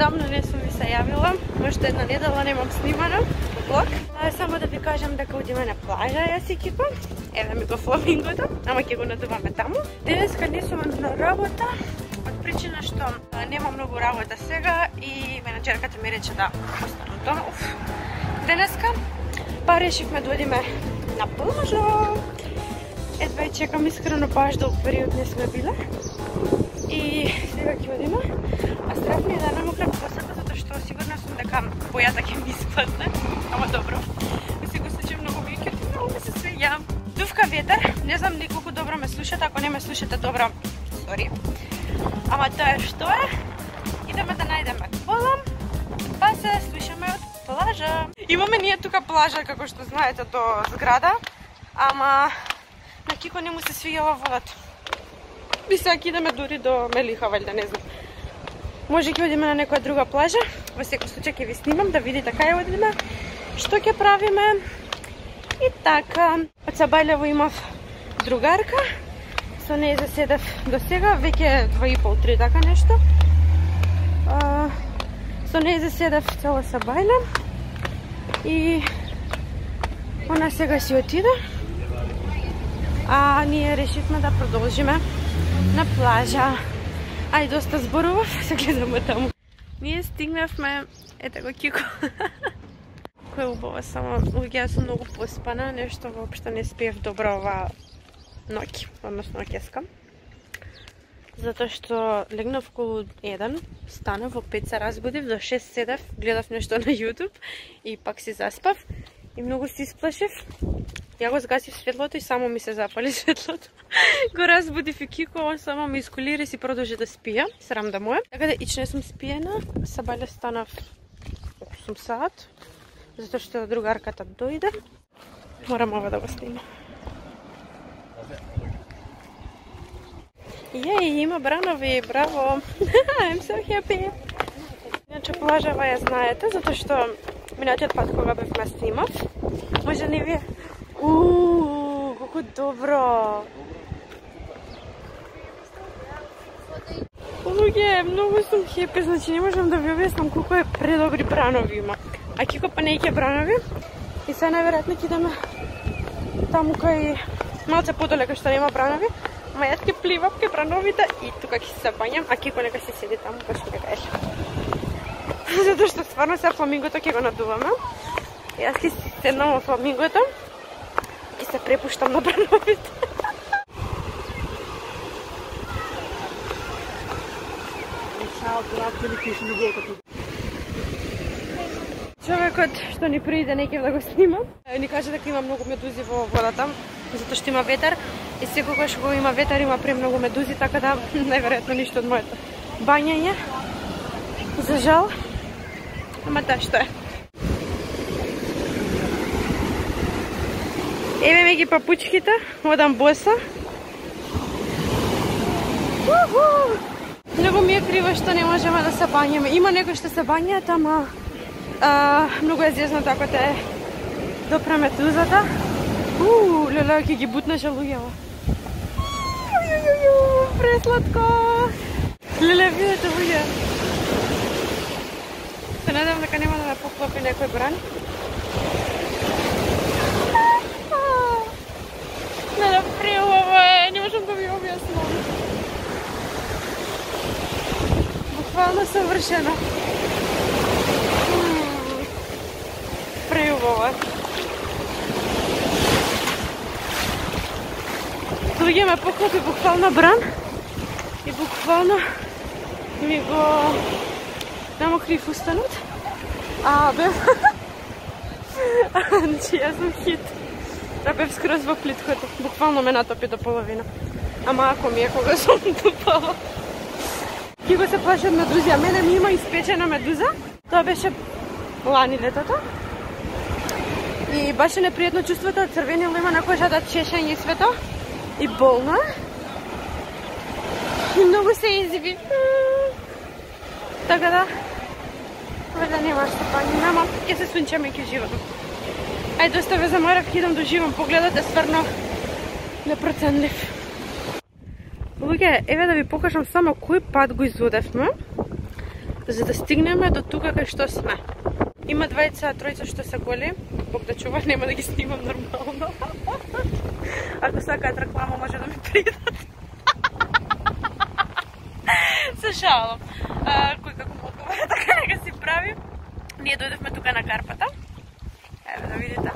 Одамно не сум ви се јавила, уште една недела немам снимано влог. Само да ви кажам дека одиме на плажа јас и Кико. Еве ми го фламингото, ама ќе го надуваме таму. Денеска не сум на работа, од причина што нема многу работа сега и менаџерката ми рече да останам дома. Денеска па решивме да одиме на плажа. Едва и чекам искрено, баш долг период не сме биле. И сега ќе одиме. А страх ми е да намокрам косата, затоа што сигурна сум дека бојата ќе ми испадне. Ама добро. Ми се го случи многу ми ќе многу ми се свеѓам. Дувка ветер, не знам ни колку добро ме слушате, ако не ме слушате добро, сори. Ама тоа е што е. Идеме да најдеме полам, па се слушаме од плажа. Имаме ние тука плажа, како што знаете, до зграда, ама на Кико не му се свиѓала водата. Би сега идеме дури до Мелиха, валјда, не знам. Може ќе одиме на некоја друга плажа. Во секој случај ќе ви снимам да видите кај одиме, што ќе правиме. И така, од Сабајлево имав другарка, со неја заседав до сега, веќе 2,5-3 така нешто. Со неја заседав цела Сабајле и она сега си отиде. А ние решивме да продолжиме на плажа. Ај, доста зборував, се гледаме таму. Ние стигнавме, ете го Кико. Кој е убаво, само луѓе сум многу поспана, нешто воопшто не спиев добро оваа ноќ, односно ноќеска. Затоа што легнав околу 1, станав во 5 се разбудив, до 6 седев, гледав нешто на YouTube и пак си заспав и многу се исплашив. Ја го згасив светлото и само ми се запали светлото. Го разбудив и Кико, он само ми исколира и си продолжи да спија. Срам да му е. Така да ич не сум спиена. Сабајле станав 8 сат, затоа што другарката дојде. Морам ова да го снимам. Јеј, има бранови, браво. I'm so happy. Иначе плажава ја знаете, затоа што минатиот пат кога бевме снимав, може не вие. Колку добро! Луѓе, многу сум хепи, значи не можам да ви објаснам колку е предобри бранови има. А Кико па не ќе бранови и сега најверојатно ќе идеме таму кај малце подолека што нема бранови, ама јас ќе пливам кај брановите и тука ќе се бањам, а Кико нека се седи таму кај што ќе кај. Затоа што стварно сега фламингото ќе го надуваме. Јас ќе седнам во фламингото и се препуштам на брановите. Човекот што ни пријде не ќе да го снимам, ни кажа дека има многу медузи во водата, затоа што има ветер и секогаш кога има ветер има премногу медузи, така да најверојатно ништо од моето бањање. За жал, ама тоа што е. Еве ми ги папучките, одам боса. Многу ми е криво што не можеме да се бањаме. Има некои што се бањаат, ама многу е зезнато ако те допре медузата. Леле, ќе ги бутнеше луѓето. Пресладко! Леле, видете луѓе. Се надевам дека нема да ме поклопи некој бран. Леле, преубаво е, не можам да ви објаснам. Буквално совршено. Преубаво е. Луѓе ме поклопи буквално бран и буквално ми го намокри фустанот. Бев... Значи, јас сум хит. Да бев скроз во плиткото. Буквално ме натопи до половина. Ама ако ми е кога сум тупала. Кико се плаши од медузи, а мене ми има испечена медуза. Тоа беше лани летото. И баш е непријатно чувството од црвенило има на кожата, чешење и свето. И болно е. И многу се изиви. Така да, вајда нема што паѓаме, ама ќе се сунчаме и ќе живам. Ајде, доста ве заморав, ќе идам да живам. Погледот е стварно непроценлив. Луѓе, еве да ви покажам само кој пат го изодевме. за да стигнеме до тука кај што сме. Има двајца, тројца што се голи, Бог да чува, нема да ги снимам нормално. Ако сакаат реклама, може да ми придат. Се шалам. Кој како му одговара, така нека си прави. Ние дојдевме тука на карпата. Еве да видите.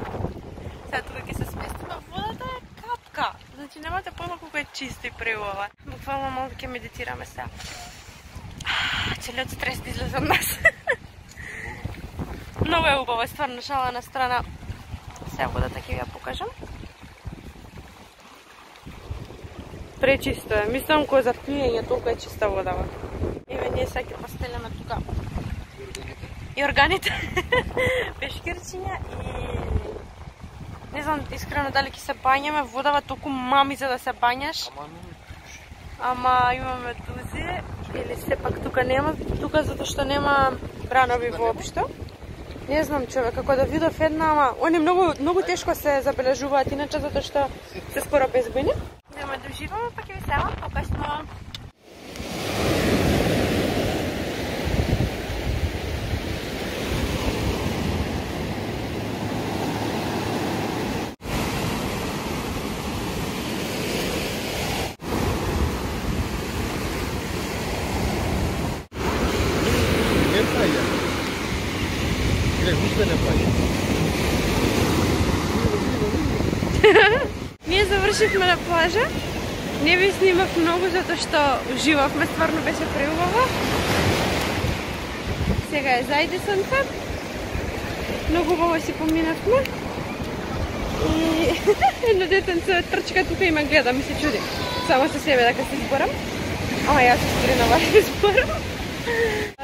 Сега тука ќе се сместиме. Водата е капка. Значи немате појма колку е чисто и преубава. Буквално малку ќе медитираме сега. Целиот стрес да излезе од нас. Много е убаво, стварно, шала на страна. Сега водата ќе ви ја покажам. Пречисто е. Мислам кој за пиење толку е чиста водава. Еве ние сега ќе постелеме тука и органите. Пешкирчиња и не знам искрено дали ќе се бањаме, водава толку мами за да се бањаш. Ама имаме дузи или сепак тука нема, тука затоа што нема бранови воопшто. Не знам човек, како да видов една, ама они многу тешко се забележуваат иначе затоа што се скоро безбојни. Идеме да уживаме, па ќе ви селам покасно. Ние завршивме на плажа. Не ви снимав многу затоа што уживавме, стварно беше преубаво. Сега е зајде сонце. Многу убаво си поминавме. И едно детенце трчка тука и ме гледа, ми се чуди. Само со себе дека се зборам. Ама јас се стринава и зборам.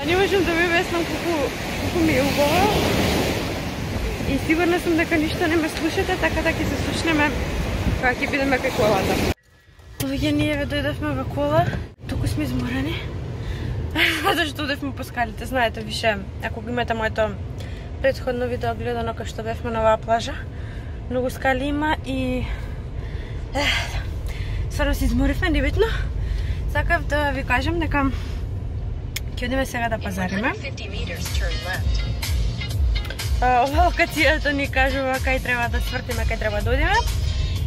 Не можам да ви објаснам колку ми е убаво. И сигурна сум дека ништо не ме слушате, така да ќе се слушнеме кога ќе бидеме кај колата. Луѓе, ние ве дојдовме во кола, туку сме изморени. Затоа што одевме по скалите, знаете више, ако го имате моето претходно видео гледано кај што бевме на оваа плажа, многу скали има и стварно се изморивме, небитно. Сакав да ви кажам дека ќе одиме сега да пазариме. Ова локацијата ни кажува кај треба да свртиме, кај треба да одиме.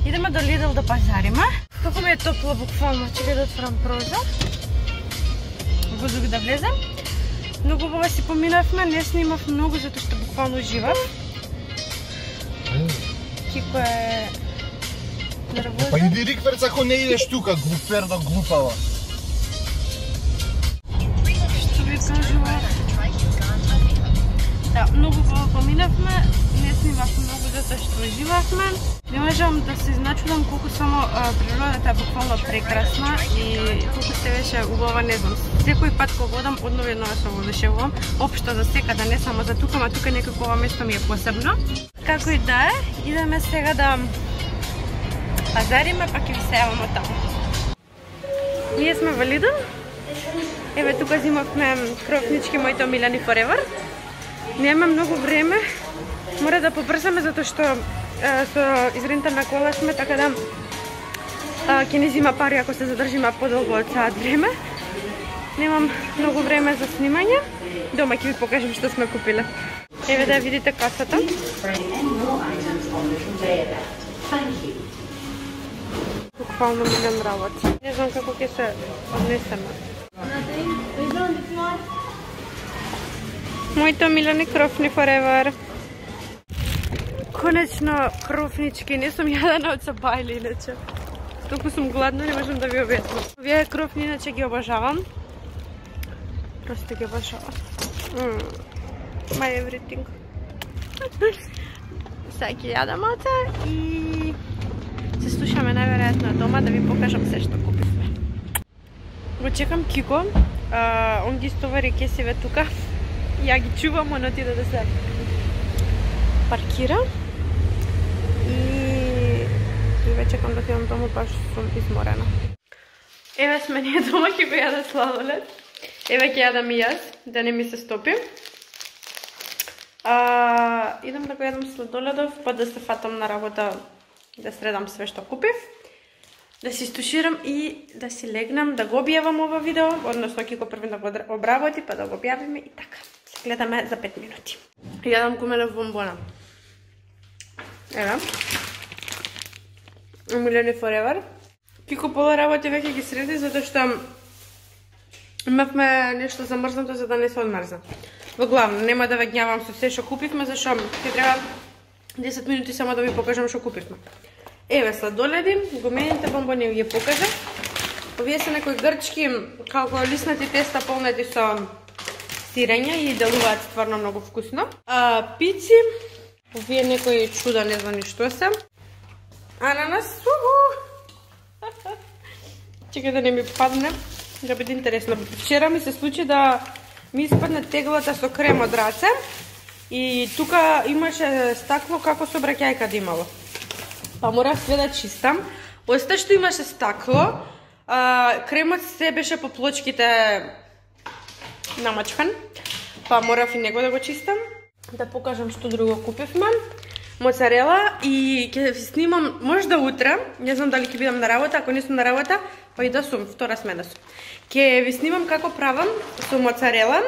Идеме до Lidl да пазариме. Како ми е топло буквално, чекај да отворам прозор. Воздух да влезе. Многу убаво си поминавме, не снимав многу затоа што буквално уживав. Кико е нервозен. Па иди рикверц ако не идеш тука, глуперда глупава. Што ви кажува? Да, многу убаво поминавме, не снимав многу затоа што уживавме. Не можам да се изначудам колку само природата е буквално прекрасна и колку се беше убава, не знам. Секој пат кога одам, одново едногаш се воодушевувам. Општо за секаде, не само за тука, ама тука некако ова место ми е посебно. Како и да е, идеме сега да пазариме, па ќе ви се јаваме таму. Ние сме во Lidl. Еве тука зимавме крофнички моите омилени Forever. Нема многу време. Мора да побрзаме затоа што со изрента на кола сме, така да ќе не зима пари ако се задржиме подолго од саат време. Немам многу време за снимање. Дома ќе ви покажам што сме купиле. Еве да видите касата. Буквално милион работи. Не знам како ќе се однесеме. Моите омилени крофни Forever. Конечно, крофнички, не сум јадена од сабајли, иначе. Толку сум гладна, не можам да ви објаснам. Овие крофни, иначе ги обожавам. Просто ги обожавам. My everything. Сега ги јадам оце и се слушаме најверојатно дома да ви покажам се што купивме. Го чекам Кико, он ги стовари кесиве тука. Ја ги чувам, он отиде да се паркира. И ве чекам да отидам дома, баш сум изморена. Еве сме ние дома, ќе го јаде сладолед. Еве ќе јадам и јас, да не ми се стопи. Идам да го јадам сладоледов, па да се фатам на работа, да средам све што купив. да си стуширам и да си легнам, да го објавам ова видео, односно ќе го првен да го обработи, па да го објавиме и така. Се гледаме за 5 минути. Јадам гумелев бомбона. Ева. Омилени forever. Кико пола работи веќе ги среди, затоа што имавме нешто замрзнато за да не се одмрзна. Во главно, нема да ве гнјавам со се што купивме, зашто ќе треба 10 минути само да ви покажам што купивме. Еве сладоледи, гумените бомбони ги покажа. Овие се некои грчки, како лиснати теста полнати со сирење и делуваат стварно многу вкусно. Пици, овие некои чуда, не знам ни што се. Ананас, чекај да не ми падне, да биде интересно. Вчера ми се случи да ми испадне теглата со крем од раце и тука имаше стакло како со бракјајка да имало. Па морав све да чистам. Оста што имаше стакло, кремот се беше по плочките намачкан, па морав и него да го чистам. Да покажам што друго купивме. Моцарела и ќе ви снимам можда утре, не знам дали ќе бидам на работа, ако не сум на работа, па и да сум, втора смена сум. Ќе ви снимам како правам со моцарела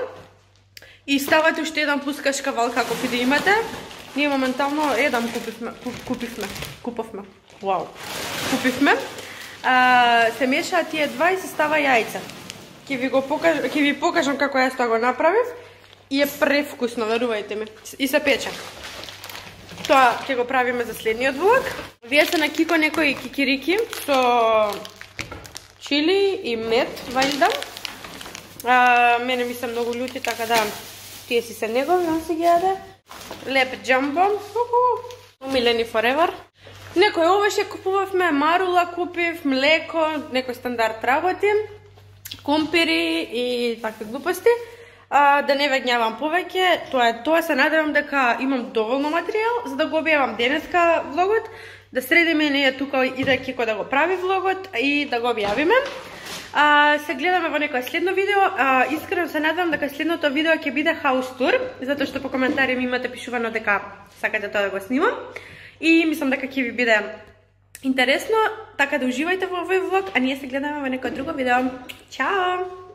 и ставате уште еден пускаш кавал како ќе да имате. Ние моментално еден купивме. Вау. Купивме. Се мешаат тие два и се става јајца. Ќе ви покажам како јас тоа го направив и е превкусно, верувајте ми. И се пече. Тоа ќе го правиме за следниот влог. Вие се на Кико некои кикирики со чили и мед, вајда. Мене ми се многу љути, така да тие си се негови, он си ги јаде. Леп джамбо, омилени forever. Некој овоше купувавме, марула купив, млеко, некој стандард работи, компири и такви глупости. Да не ве гнјавам повеќе, тоа се надевам дека имам доволно материјал за да го објавам денеска влогот, да средиме ние тука и да Кико да го прави влогот и да го објавиме. Се гледаме во некој следно видео. Искрено се надевам дека следното видео ќе биде хаус тур, затоа што по коментари ми имате пишувано дека сакате тоа да го снимам. И мислам дека ќе ви биде интересно, така да уживајте во овој влог, а ние се гледаме во некој друго видео. Чао!